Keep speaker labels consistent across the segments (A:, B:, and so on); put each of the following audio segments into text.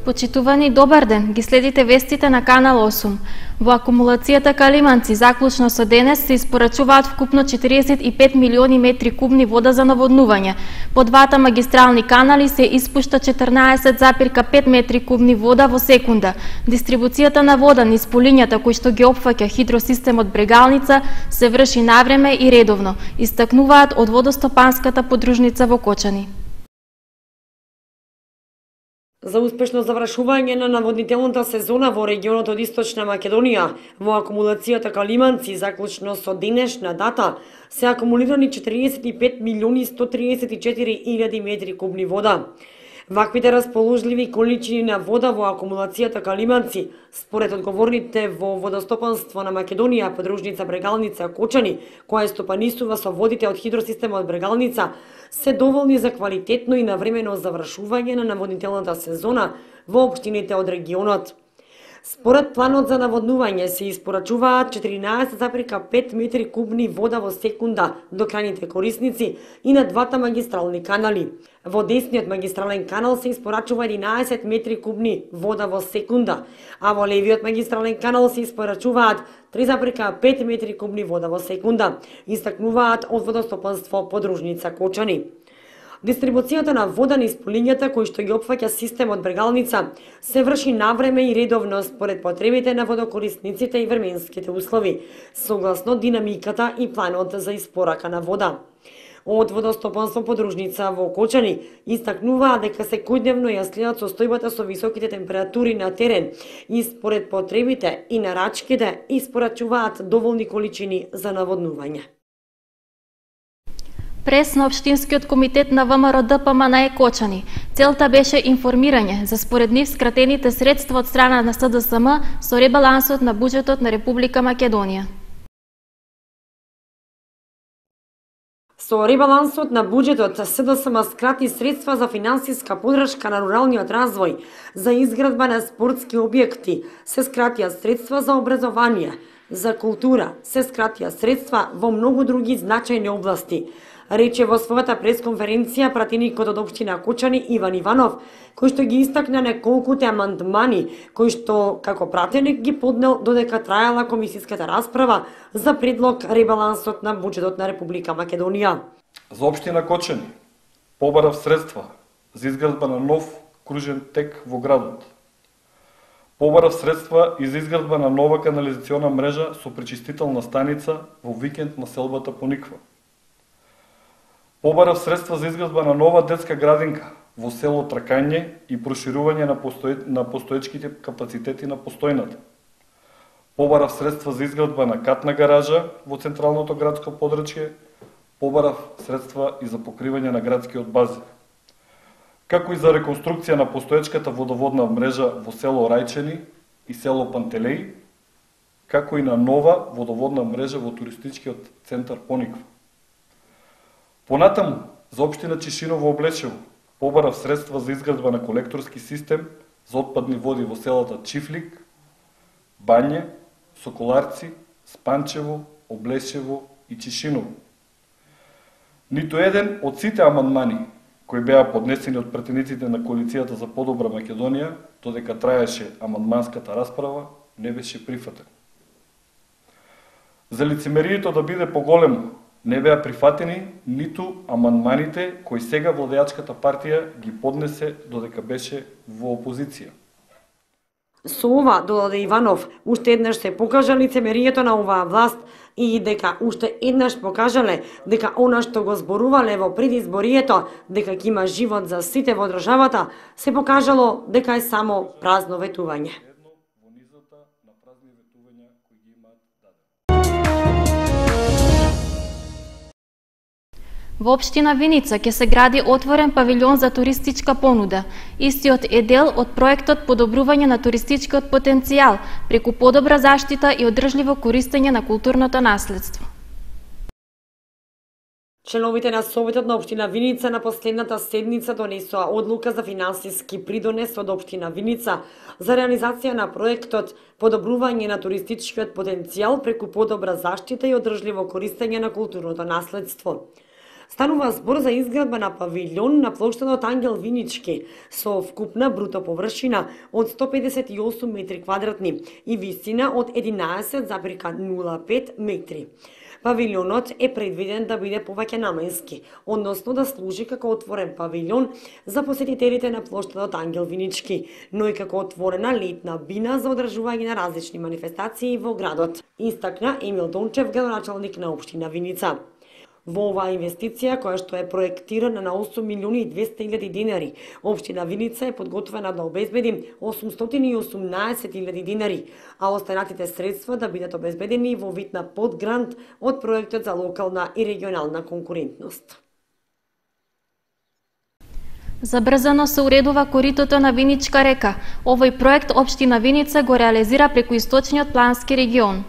A: Почитувани, добар ден, ги следите вестите на Канал 8. Во акумулацијата Калиманци, заклучно со денес, се испорачуваат вкупно 45 милиони метри кубни вода за наводнување. По двата магистрални канали се испушта 14,5 метри кубни вода во секунда. Дистрибуцијата на вода низ полињата кои што ги опфаќа хидросистемот Брегалница се врши навреме и редовно, истакнуваат од водостопанската подружница во Кочани.
B: За успешно завршување на наводнителната сезона во регионот од Источна Македонија, во акумулацијата Калиманци, заклучно со денешна дата, се акумулирани 45 милиони 134 илјади метри кубни вода. Ваквите расположливи количини на вода во акумулацијата Калиманци, според одговорните во водостопанство на Македонија, подружница Брегалница Кочани, која стопанисува со водите од хидросистемот Брегалница, се доволни за квалитетно и навремено завршување на наводнителната сезона во општините од регионот. Според планот за наводнување се испорачуваат 14,5 метри кубни вода во секунда до крајните корисници и на двата магистрални канали. Во десниот магистрален канал се испорачува 11 метри кубни вода во секунда, а во левиот магистрален канал се испорачуваат 3,5 метри кубни вода во секунда, истакнуваат од водостопанство подружница Кочани. Дистрибуцијата на вода низ полињата кои што ги опфаќа системот Брегалница се врши навреме и редовно според потребите на водокорисниците и временските услови, согласно динамиката и планот за испорака на вода. Од водостопанство подружница во Кочани истакнуваа дека секојдневно ја следат состојбата со високите температури на терен и според потребите и нарачките испорачуваат доволни количини за наводнување.
A: Прес на Општинскиот комитет на ВМРО ДПМН Кочани. Целта беше информирање за според нив скратените средства од страна на СДСМ со ребалансот на буџетот на Република Македонија.
B: Со ребалансот на буџетот СДСМ скрати средства за финансиска подршка на руралниот развој, за изградба на спортски објекти, се скратија средства за образование, за култура, се скратија средства во многу други значајни области, рече во својата пресконференција пратеникот од општина Кочани Иван Иванов, кој што ги истакна неколкуте амандмани, кои што како пратеник ги поднел додека траела комисиската расправа за предлог ребалансот на буџетот на Република Македонија.
C: За општина Кочани побарав средства за изградба на нов кружен тек во градот. Побарав средства и за изградба на нова канализациона мрежа со пречистителна станица во викенд на селбата Пониква. Побарав средства за изградба на нова детска градинка во село Тракање и проширување на постоечките капацитети на постојната. Побарав средства за изградба на катна гаража во централното градско подрачје. Побарав средства и за покривање на градскиот базен, како и за реконструкција на постоечката водоводна мрежа во село Рајчени и село Пантелеј, како и на нова водоводна мрежа во туристичкиот центар Пониква. Понатаму, за општина Чишиново Облечево, побарав средства за изградба на колекторски систем за отпадни води во селата Чифлик, Бање, Соколарци, Спанчево, Облечево и Чишиново. Ниту еден од сите амандмани кои беа поднесени од пратениците на коалицијата за подобра Македонија, додека траеше амандманската расправа, не беше прифатен. За лицемерието да биде поголемо, не беа прифатени ниту амандманите кои сега владеачката партија ги поднесе додека беше во опозиција.
B: Со ова, додаде Иванов, уште еднаш се покажа лицемерието на оваа власт и дека уште еднаш покажале дека она што го зборувале во предизборието, дека ќе има живот за сите во државата, се покажало дека е само празно ветување.
A: Во општина Виница ќе се гради отворен павилјон за туристичка понуда. Истиот е дел од проектот подобрување на туристичкиот потенцијал преку подобра заштита и одржливо користење на културното наследство.
B: Членовите на Советот на општина Виница на последната седница донесоа одлука за финансиски придонес од општина Виница за реализација на проектот подобрување на туристичкиот потенцијал преку подобра заштита и одржливо користење на културното наследство. Станува збор за изградба на павилјон на плоштадот Ангел Винички со вкупна бруто површина од 158 метри квадратни и висина од 11,05 метри. Павилјонот е предвиден да биде повеќе наменски, односно да служи како отворен павилјон за посетителите на плоштадот Ангел Винички, но и како отворена летна бина за одржување на различни манифестации во градот, истакна Емил Дончев, градоначалник на општина Виница. Во оваа инвестиција, која што е проектирана на 8.200.000 динари, општина Виница е подготвена да обезбеди 818.000 динари, а останатите средства да бидат обезбедени во вид на подгрант од проектот за локална и регионална конкурентност.
A: Забрзано се уредува коритото на Виничка река. Овој проект општина Виница го реализира преку источниот плански регион.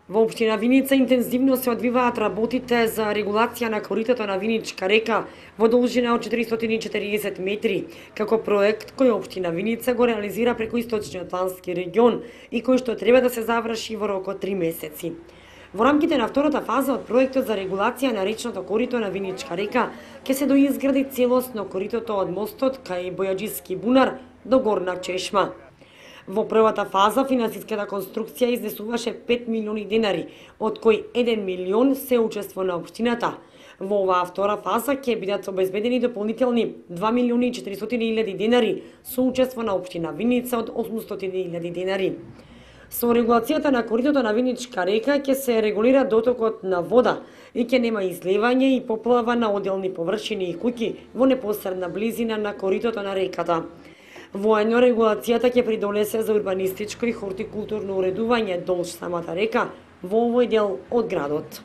B: Во општина Виница интензивно се одвиваат работите за регулација на коритото на Виничка река во должина од 440 метри, како проект кој општина Виница го реализира преку источниот плански регион и кој што треба да се заврши во рок од 3 месеци. Во рамките на втората фаза од проектот за регулација на речното корито на Виничка река ќе се доизгради целосно коритото од мостот кај Бојаджиски бунар до Горна Чешма. Во првата фаза финансиската конструкција изнесуваше 5 милиони динари, од кои 1 милион се учество на општината. Во оваа втора фаза ќе бидат обезбедени дополнителни 2 милиони 400.000 динари со учество на општина Виница од 800.000 динари. Со регулацијата на коритото на Виничка река ќе се регулира дотокот на вода и ќе нема излевање и поплава на одделни површини и куќи во непосредна близина на коритото на реката. Воедно регулацијата ќе придонесе за урбанистичко и хортикултурно уредување долж самата река во овој дел од градот.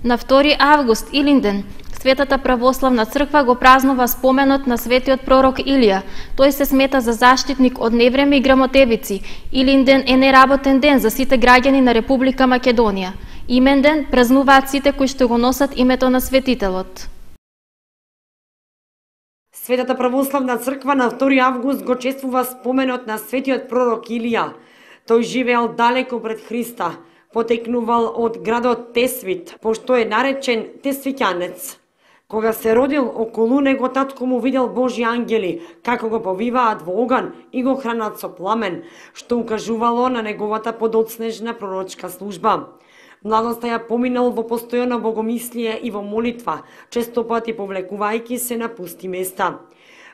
A: На 2 август, Илинден, Светата православна црква го празнува споменот на светиот пророк Илија. Тој се смета за заштитник од невреме и грамотевици. Илинден е неработен ден за сите граѓани на Република Македонија. Имен ден празнуваат сите кои што го носат името на светителот.
B: Светата православна црква на 2 август го чествува споменот на светиот пророк Илија. Тој живеел далеко пред Христа, потекнувал од градот Тесвит, пошто е наречен Тесвиќанец. Кога се родил, околу него татко му видел Божји ангели, како го повиваат во оган и го хранат со пламен, што укажувало на неговата подоцнежна пророчка служба. Младоста ја поминал во постојано богомислие и во молитва, често пати повлекувајќи се на пусти места.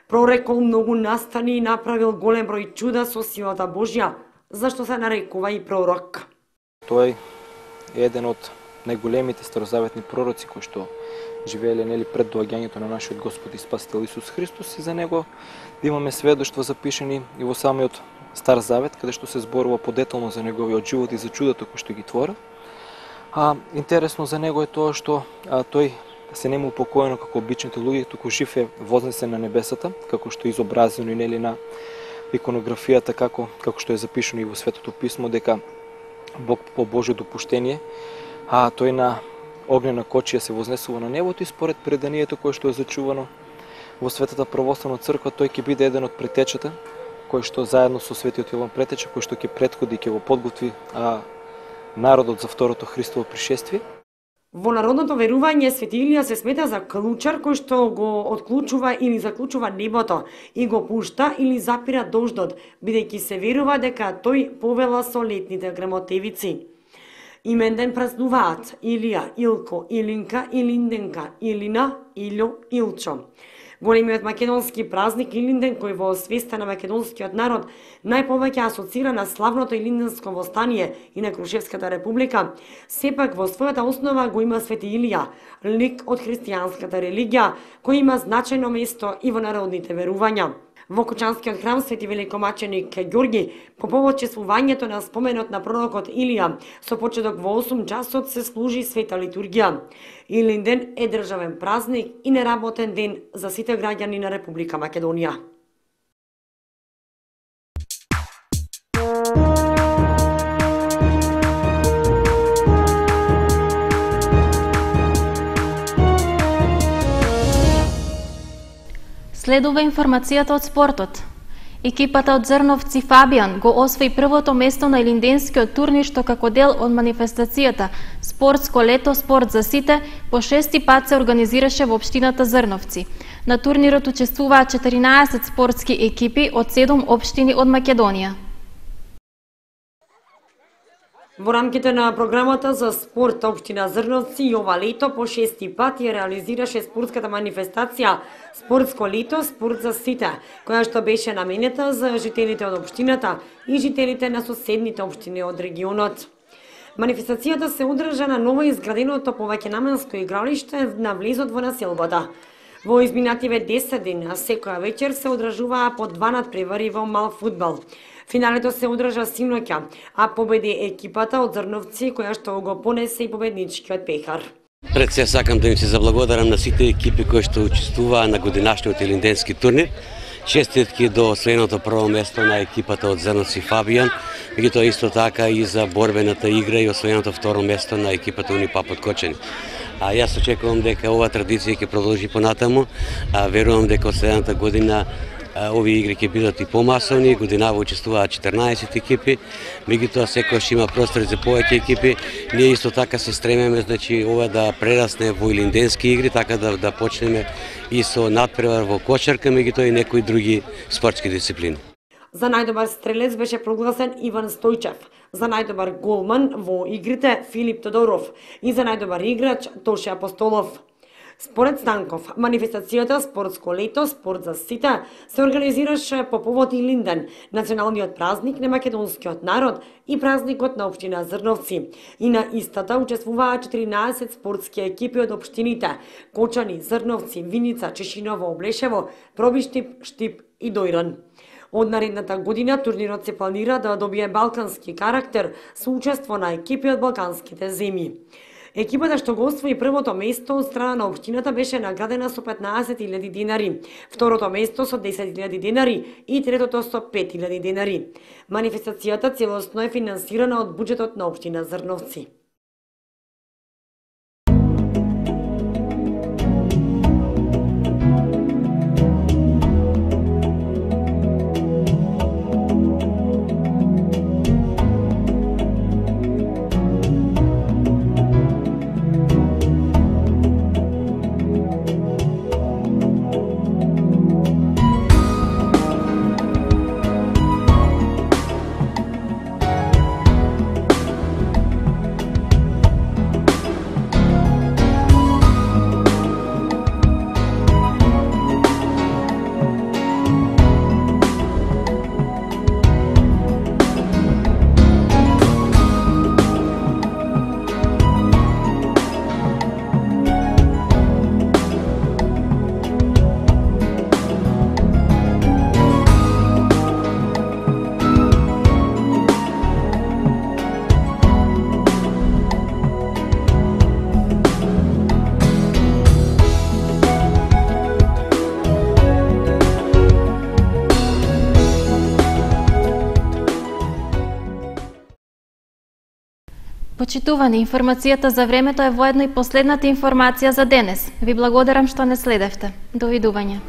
B: Прорекол многу настани и направил голем број чуда со силата Божја, зашто се нарекува и пророк.
D: Тој е еден од најголемите старозаветни пророци кои што живееле пред доаѓањето на нашиот Господ и Спасител Исус Христос, и за него да имаме сведоштва запишани и во самиот Стар Завет, каде што се зборува подетално за неговиот живот и за чудото кои што ги творил. Интересно за него е тоа што тој се нема упокоено како обичните луѓе, туку жив е вознесен на небесата, како што е изобразено и на иконографијата, како што е запишано и во Светото писмо, дека Бог по Божјо допуштение, тој на огнена кочија се вознесува на небото, и според преданието кое што е зачувано во Светата православна црква, тој ќе биде еден од претечата, кој што заедно со Светиот Јован Претеча, кој што ќе претходи и ќе го подготви народот за второто Христово пришествие.
B: Во народното верување Свети Илија се смета за клучар кој што го отклучува или заклучува небото и го пушта или запира дождот, бидејќи се верува дека тој повела со летните грамотевици. Имен ден празнуваат Илија, Илко, Илинка, Илинденка, Илина, Илјо, Илчо. Големиот македонски празник Илинден, кој во свеста на македонскиот народ најповеќе асоцира на славното Илинденско востание и на Крушевската република, сепак во својата основа го има Свети Илија, лик од христијанската религија, кој има значајно место и во народните верувања. Во Кучанскиот храм Свети великомаченик Ѓорги, по повод чествувањето на споменот на пророкот Илија, со почеток во 8 часот се служи света литургија. Илинден е државен празник и неработен ден за сите граѓани на Република Македонија.
A: Следува информацијата од спортот. Екипата од Зрновци Фабијан го освои првото место на Илинденскиот турнир што како дел од манифестацијата Спортско лето, спорт за сите, по 6-ти пат се организираше во општината Зрновци. На турнирот учествуваа 14 спортски екипи од 7 општини од Македонија.
B: Во рамките на програмата за спорт општина Зрновци ова лето по 6-ти пат ја реализираше спортската манифестација Спортско лето, спорт за сите, која што беше наменета за жителите од општината и жителите на соседните општини од регионот. Манифестацијата се одржа на ново изграденото повеќенамensко игралиште на влезот во населбата. Во изминативе 10 дена секоја вечер се одржуваа по 2 надпревари во мал фудбал. Финалето се одржа синоќа, а победи екипата од Зрновци која што го понесе и победничкиот пехар.
E: Пред се сакам да им се заблагодарам на сите екипи кои што учествуваа на годинашниот илинденски турнир. Честитки до освоеното прво место на екипата од Зрновци Фабијан, меѓутоа исто така и за борбената игра и освоеното второ место на екипата Унипап од Кочани. Јас очекувам дека ова традиција ќе продолжи понатаму, верувам дека од следната година овие игри ќе бидат и помасовни, годинава учествуваат 14 екипи, меѓутоа секогаш има простор за повеќе екипи. Ние исто така се стремеме, значи, ова да прерасне во илинденски игри, така да почнеме и со надпревар во кошарка, меѓутоа и некои други спортски дисциплини.
B: За најдобар стрелец беше прогласен Иван Стојчев, за најдобар голман во игрите Филип Тодоров и за најдобар играч Тоше Апостолов. Според Станков, манифестацијата Спортско лето, спорт за сите се организираше по повод Илинден, националниот празник на македонскиот народ и празникот на општина Зрновци. И на истата учествуваа 14 спортски екипи од општините Кочани, Зрновци, Виница, Чешиново, Облешево, Пробиштип, Штип и Дојран. Од наредната година турнирот се планира да добие балкански карактер со учество на екипи од балканските земји. Екипата што го освои првото место од страна на општината беше наградена со 15.000 денари, второто место со 10.000 денари и третото со 5.000 денари. Манифестацијата целосно е финансирана од буџетот на општина Зрновци.
A: Почитувани, информацијата за времето е воедно и последната информација за денес. Ви благодарам што не следевте. Довидување.